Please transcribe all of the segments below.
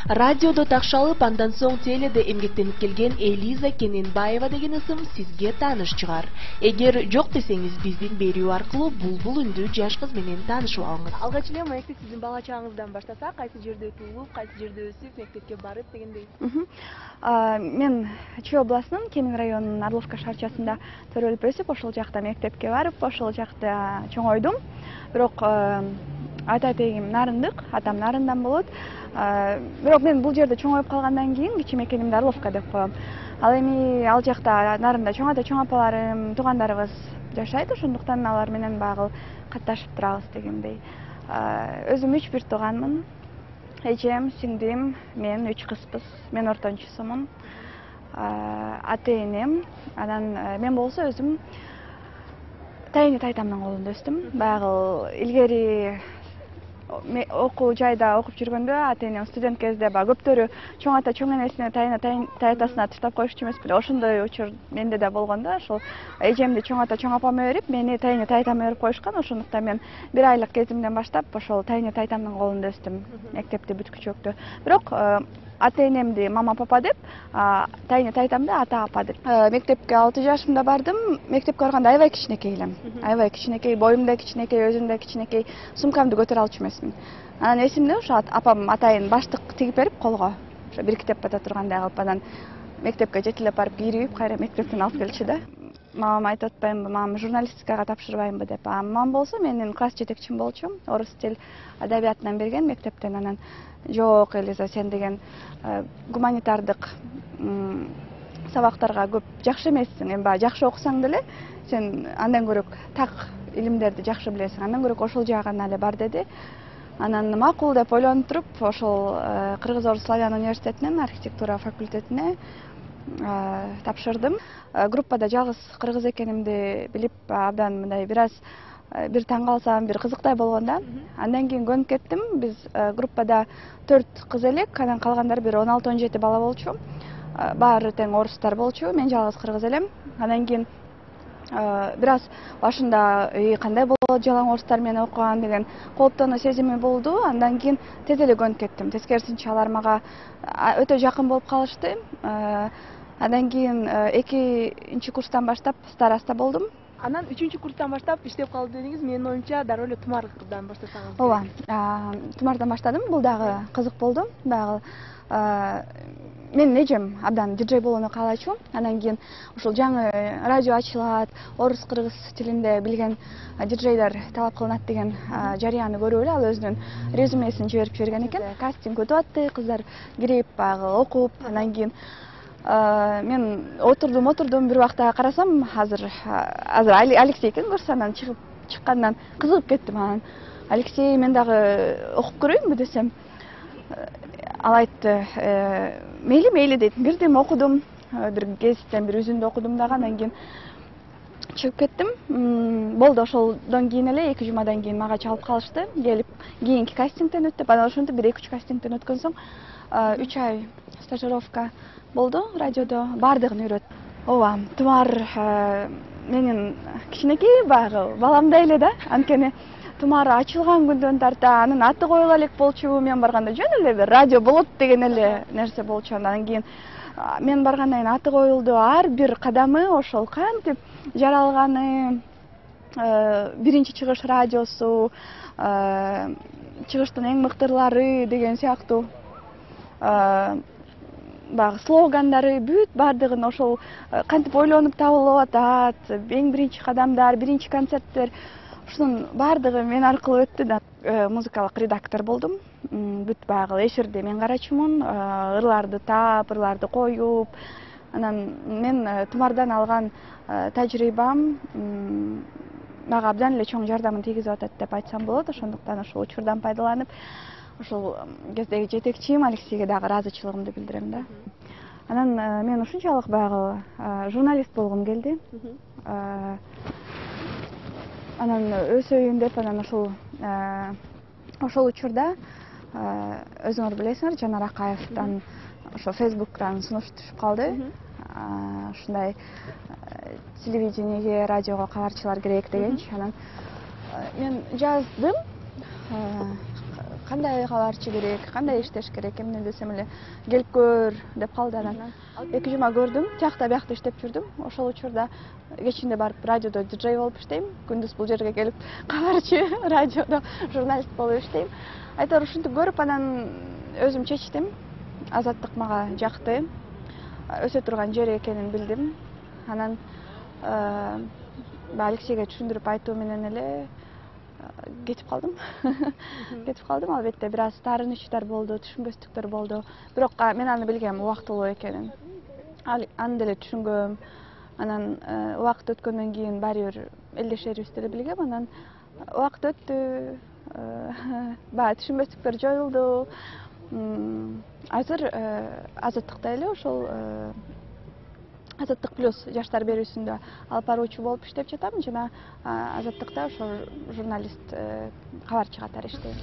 Радиодо такшалып, андан соң теледе эмгектенип келген Элиза Кененбаева деген ысым сизге тааныш чыгар. Эгер жок десеңиз, биздин берүү аркылуу булбул үндүү жаш кыз менен таанышып алыңыз. Алгач эле маекти сиздин бала чагыңыздан баштасак, кайсы жерде туулуп, кайсы жерде өсүп, мектепке барып дегендей? Мен Чүй областынын Кемин районунун Орловка шаарчасында төрөлүп өсүп, ошол жакта мектепке барып, ошол жакта чоңойдум. Бирок ата-тегим нарындык, атам нарындан болот. Бирок мен бул жерде чоңоюп калгандан кийин кичиме экенимди Орловка деп коем. Ал эми ал жакта нарында чоң ата, чоң апаларым, туугандарыбыз жашайт, ошондуктан алар менен багыл катташып турабыз дегендей. Өзүм 3 тууганмын. Эжем, сиңдим, мен 3 кызбыз. Мен ортончусумун. Ата-энем, анан мен болсо өзүм тайыны тайтамдын колунда өстүм. Багыл илгери окуу жайда окуп жүргөндө ата-энем студент кезде көптөрү чоң ата, чоң энесине, тайына, тайтасына таштап коюшчу эмес беле? Ошондой учур менде да болгондо, ошол эжемди чоң ата, чоң апама берип, мени тайыны тайтама берип коюшкан. Ошондуктан мен 1 айлык кезимден баштап ошол тайыны тайтамдын колунда өстүм, мектепти бүткүчөктө. Бирок ата-энемди мама папа деп, тайыны тайтамды ата апа деп. Мектепке 6 жашымда бардым. Мектепке барганда аябай кичинекей элем. Аябай кичинекей, боюм да кичинекей, өзүм да кичинекей, сумкамды көтөрө алчу эмесмин. Анан эсимде ошо апам атайын баштык тигип берип колго, ошо бирикитеп бата тургандай кылып, анан мектепке жетелеп барып кийирип, кайра мектептен алып келчү да. Мамам айтып атпаймынбы, мамам журналистикага тапшырбаймынбы деп. Мамам болсо менин класс жетекчим болчу, орус тил адабиятынан берген мектептен. Анан жок, Элиза, сен деген гуманитардык сабактарга көп жакшы эмессиң. Эми баягы жакшы окусаң деле, сен андан көрөк так илимдерди жакшы билесиң. Андан көрөк ошол жагына эле бар деди. Анан макул деп ойлонуп туруп, ошол Кыргыз-Орус славян университетинин архитектура факультетине тапшырдым. Группада жалгыз кыргыз экенимди билип, абдан мындай бир таң калсам, бир кызыктай болгон да. Андан кийин көнүп кеттим. Биз группада 4 кыз элек, анан калгандары бир 16-17 бала болчу. Баары тең орустар болчу, мен жалгыз кыргыз элем. Андан кийин бир аз башында кандай болот жалаң орустар менен окуган деген кооптонуу сезими болду. Андан кийин тез эле көнүп кеттим. Тескерисинче алар мага өтө жакын болуп калышты. Андан кийин 2-нчи курстан баштап староста болдум. Анан 3-чү курстан баштап иштеп калдым дедиңиз. Менин оюмча дароо эле тумардан баштасаңыз. Ооба, тумардан баштадым. Бул дагы кызык болду. Багы менин эжем абдан диджей болууну каалачу. Андан кийин ушул жаңы радио ачылат, орус-кыргыз тилинде билген диджейлер талап кылынат деген жарыяны көрүп эле ал өзүнүн резюмесин жиберип жиберген экен. Кастинг өтүп атты, кыздар кирип, багы окуп, андан кийин мен отурдум, бир убакта карасам, азыр Алексей экен, көрсөм, анан чыккандан кызыгып кеттим. Анан Алексей, мен дагы окуп көрөйүнбү десем, ал айтты, мейли дейт. Бирдим, окудум, бир гезиттен бир үзүндү окудум дагы, андан кийин чыгып кеттим. Болду, ошолдон кийин эле 2 жумадан кийин мага чалып калышты, келип кийинки кастингден өт деп. Анан ошентип 1-2 кастингден өткөн соң 3 ай стажировка болду радиодо, баардыгын үйрөт. Ооба, Тумар менин кичинекей багы баламдай эле да. Анткени Тумар ачылган күндөн тарта анын аты коюла элек болчу. Мен барганда жөн эле бир радио болот деген эле нерсе болчу. Андан кийин мен баргандан кийин аты коюлду. Ар бир кадамы ошол кантип жаралганы, биринчи чыгыш радиосу, чыгыштын эң мыктылары деген сыяктуу багы слогандары бүт баардыгын ошол кантип ойлонуп табылып атат, эң биринчи кадамдар, биринчи концерттер, ушунун баардыгы мен аркылуу өттү да. Музыкалык редактор болдум. Бүт багы эфирди мен карачумун, ырларды таап, ырларды коюп. Анан мен Тумардан алган тажрыйбам мага абдан эле чоң жардамын тийгизип атат деп айтсам болот. Ошондуктан ошол учурдан пайдаланып, ошол кездеги жетекчим Алексейге дагы ыраазычылыгымды билдирем да. Анан мен ушунчалык баягы журналист болгум келди. Анан өсөйүн деп, анан ошол учурда өзүңөр билесиңер, Жанар Акаевден ошо Facebook'тан сунуш түшүп калды. Ушундай телевидениеге, радиого кабарчылар керек дегенчи. Анан мен жаздым, кандай кабарчы керек, кандай иштеш керек, эмне десем эле келип көр деп калды. Анан 2 жума көрдүм, тиякта биякта иштеп жүрдүм. Ошол учурда кечинде барып радиодо диджей болуп иштейм, күндүз бул жерге келип кабарчы радиодо журналист болуп иштейм. Айтор ушинтип көрүп анан өзүм чечтим. Азаттык мага жакты, өсө турган жер экенин билдим. Анан Алексейге түшүндүрүп айтуу менен эле кетип калдым. Кетип калдым. Албетте бир аз таарынычтар болду, түшүнбөстүктөр болду. Бирок мен аны билгем убактылуу экенин. Аны деле түшүнгөм. Анан убакыт өткөндөн кийин баары бир элдешерибизди деле билгем. Анан убакыт өттү, баягы түшүнбөстүктөр жоюлду. Азыр Азаттыкта эле ошол Азаттык плюс жаштар берүүсүндө алып баруучу болуп иштеп жатам жана Азаттыкта ошол журналист кабарчы катары иштейм.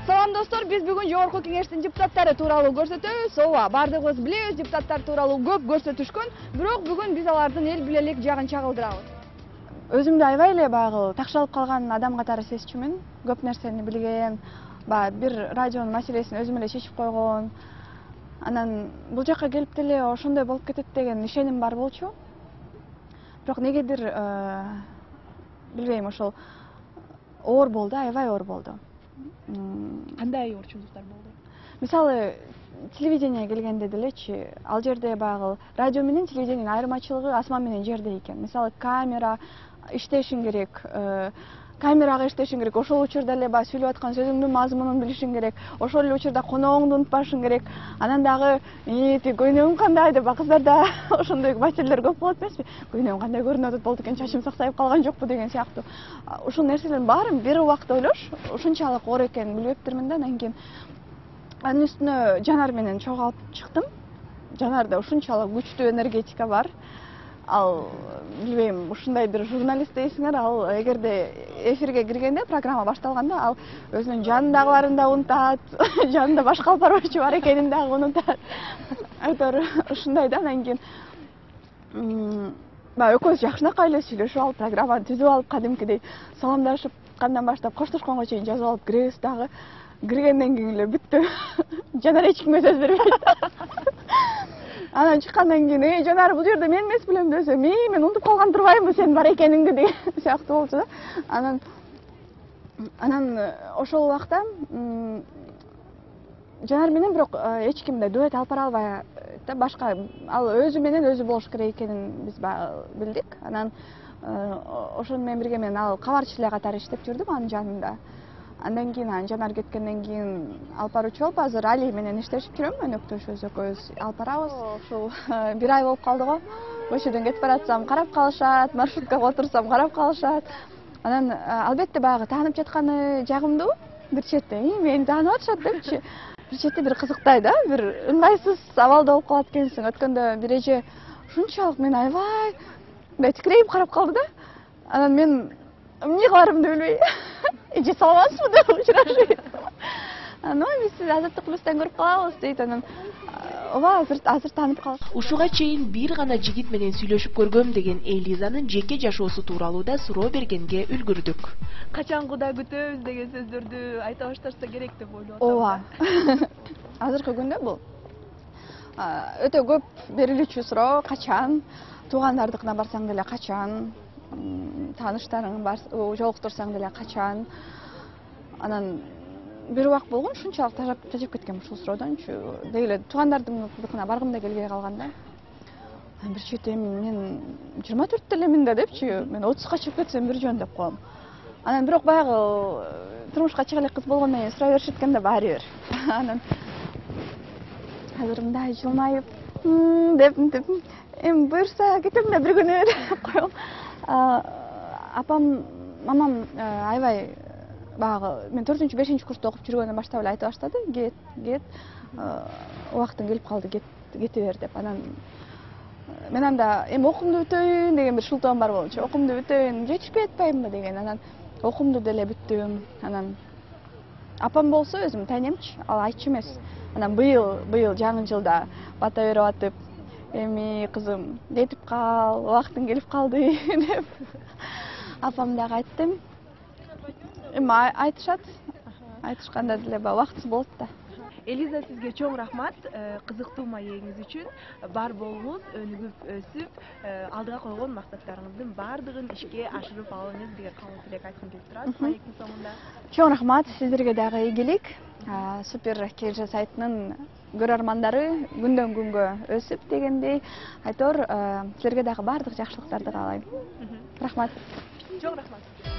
Салам достор, биз бүгүн жогорку кеңештин депутаттары тууралуу көрсөтөбүз. Ооба, баардыгыбыз билебиз, депутаттар тууралуу көп көрсөтүшкөн, бирок бүгүн биз алардын эл билелик жагын чагылдырабыз. Өзүмдү аябай эле баягы такшалып калган адам катары сезчүмүн. Көп нерсени билген, баягы бир радионун маселесин өзүм эле чечип койгон. Анан бул жакка келип деле ошондой болуп кетет деген ишеним бар болчу. Бирок негедир билбейм, ошол оор болду, аябай оор болду. Кандай оорчулуктар болду? Мисалы, телевидение келгенде делечи, ал жерде баягы радио менен телевидениянын айырмачылыгы асман менен жердей экен. Мисалы, камера иштешиң керек, камерага иштешиң керек, ошол учурда эле баягы сүйлөп аткан сөзүңдүн мазмунун билишиң керек, ошол эле учурда коногуңду унутпашың керек. Анан дагы көйнөгүм кандай деп кыздарда ошондой маселелер көп болот эмеспи? Көйнөгүм кандай көрүнүп атат, болду экен, чачым саксайып калган жокпу деген сыяктуу. Ушул нерселердин баарын бир убакта ойлош ушунчалык оор экенин билбептирмин да. Андан кийин анын үстүнө Жанар менен чогуу алып чыктым. Жанарда ушунчалык күчтүү энергетика бар. Ал билбейм, ушундайдыр журналист дейсиңер, ал эгерде эфирге киргенде, программа башталганда, ал өзүнүн жанындагыларын да унутат, жанында башка алып баруучу бар экенин дагы унутат. Айтор ушундай да. Анан кийин баягы экөөбүз жакшынакай эле сүйлөшүп алып, программаны түзүп алып, кадимкидей саламдашып, кандан баштап коштошконго чейин жазып алып киребиз дагы. Киргенден кийин эле бүттү. Жанар эч кимге сөз бербейт. Анан чыккандан кийин, Жанар, бул жерде мен эмес белем десем, мен унутуп калган турбаймынбы сенин бар экениңди деген сыяктуу болчу да. Анан ошол убакта Жанар менен бирок эч ким да дуэт алып бара албайт да, башка ал өзү менен өзү болуш керек экенин биз билдик. Анан ошону менен бирге мен ал кабарчы эле катары иштеп жүрдүм анын жанында. Андан кийин Жанар кеткенден кийин алып баруучу болуп, азыр Али менен иштешип жүрөм, өнөктөшүбүз экөөбүз алып барабыз. Ушул бир ай болуп калды го. Көчөдөн кетип баратсам карап калышат, маршруткага отурсам карап калышат. Анан албетте баягы таанып жатканы жагымдуу. Бир четте мени таанып атышат депчи. Бир четте бир кызыктay да, бир ыңгайсыз абалда болуп калат экенсиң. Өткөндө бир эже ушунчалык мени аябай мындай тикирейип карап калды да. Анан мен эмне кыларымды билбей, эже саламатсызбы деп учурашып. Анан биз сизди Азаттык плюстан көрүп калабыз дейт. Анан ооба, азыр таанып калат. Ушуга чейин бир гана жигит менен сүйлөшүп көргөм деген Элизанын жеке жашоосу тууралуу да суроо бергенге үлгүрдүк. Качангыда күтөбүз деген сөздөрдү айта башташса керек деп ойлоп атам. Ооба. Азыркы күндө бул өтө көп берилүүчү суроо. Качан? Туугандардыкына барсаң деле качан? Тааныштарың жолуктурсаң деле качан? Анан бир убак болгон ушунчалык тажап кеткем ушул суроодончу. Деги эле туугандардыкына баргым да келбей калган да. Бир чети мен 24 элемин да депчи, мен 30га чыгып кетсем бир жөн деп коем. Анан бирок баягы турмушка чыга элек кыз болгондон кийин сурай беришет экен да баары бир. Анан азыр мындай жылмайып деп мынтип буюрса кетем да бир күнү деп коем. Апам, мамам аябай баягы мен 4-5 курста окуп жүргөндөн баштап эле айта баштады. Кет, убактың келип калды, кете бер деп. Анан мен анда окуумду бүтөйүн деген бир шылтоом бар болчу. Окуумду бүтөйүн, жетишпей атпаймынбы деген. Анан окуумду деле бүттүм. Анан апам болсо өзүм тайнемчи, ал айтчу эмес. Анан быйыл жаңы жылда бата берип атып, эми кызым, жетип кал, убактың келип калды деп апам дагы айтты. Эми айтышат. айтышканда деле баягы убактысы болот да. Элиза, сизге чоң рахмат. Кызыктуу маегиңиз үчүн бар болуңуз, өнүгүп өсүп, алдыга койгон максаттарыңыздын баардыгын ишке ашырып алыңыз деген каалоо тилек айткым келип турат маектин соңунда. Чоң рахмат, сиздерге дагы ийгилик. Супер KG сайтынын көрөрмандары күндөн күнгө өсүп дегендей, айтор силерге дагы баардык жакшылыктарды каалайм. Рахмат. Чоң рахмат.